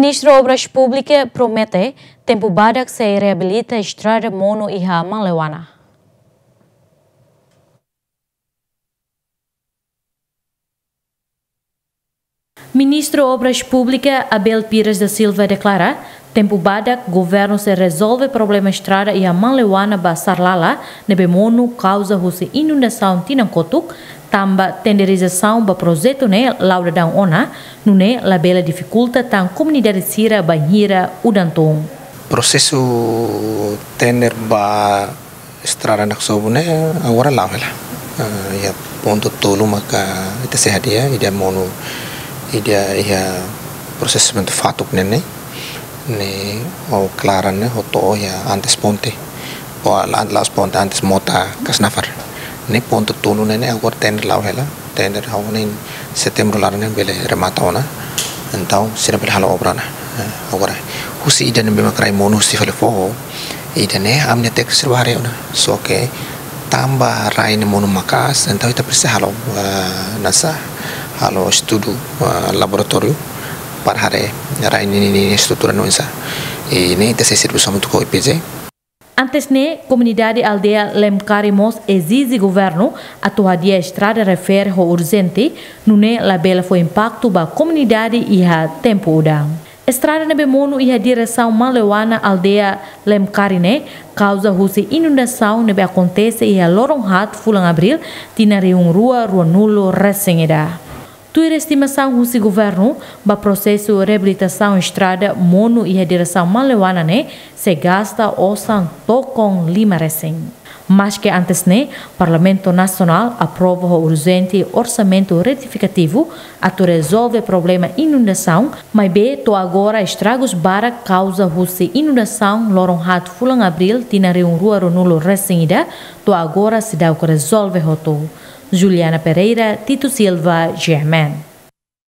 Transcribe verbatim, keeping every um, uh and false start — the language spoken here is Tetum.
Ministru Obras Públikas promete tempu badak sei reabilita estrada monu iha Manleuana. Ministru Obras Públikas Abel Pires da Silva deklara, tempu badak governu sei rezolve problema estrada iha Manleuana ba Sarlala ne'ebé monu kauza husi inundasaun tinan kotuk, tanba tenderizasaun ba projetu ne'e la'o daudaun ona, nune'e labele difikulta tan komunidade sira bainhira udan tun. Prosesu tender ba estrada Naksobu ne'e agora la'o hela. Ah, iha pontu tolu maka ita sei hadi'a, ida monu, ida iha prosesimentu fatuk ne'e ne'e, ne'e ho klaran ne'e, ho to'o iha antes ponte. Ou la, la'ós ponte, antes mota Kasnafar. Ne'e pontu tolu ne'e ne'e agora tender la'o hela. Tender ha'u hanoin setembru laran ne'e bele remata ona. Entaun, sira bele halo obra ona. Eh, agora, husi ida ne'ebé mak rai monu husi fali foho, ida ne'e ami-nia tékniku sira bá haree ona. Só ke tanba rai ne'e monu maka'as, entaun ita presiza halo, eh, nasa, halo estudu, eh, laboratóriu, para haree rai ne'e nia, nia estrutura nu'usá. I ne'e ita sei servisu hamutuk ho I P J. Antes ne'e, komunidade aldeia Lemkari mós ezije governu atu hadi'a estrada refere ho urjente, nune'e labele fó impaktu ba komunidade iha tempu udan. Estrada ne'ebé monu iha diresaun Manleuana aldeia Lemkari ne'e, kauza husi inundasaun ne'ebé akontese iha loron haat fulan Abríl, tinan rihun rua ruanulu resin ida. Tuir estimasaun husi governu, ba prosesu reabilitasaun estrada monu iha diresaun Manleuana ne'e, sei gasta osan tokon lima resin. Maske antes ne'e, Parlamentu Nasionál aprova ho urjente orsamentu retifikativu atu rezolve problema inundasaun, maibé to'o agora estragus barak kauza husi inundasaun loron haat fulan Abríl tinan rihun rua ruanulu resin ida, to'o agora seidauk rezolve hotu. Juliana Pereira, Tito Silva, G M N.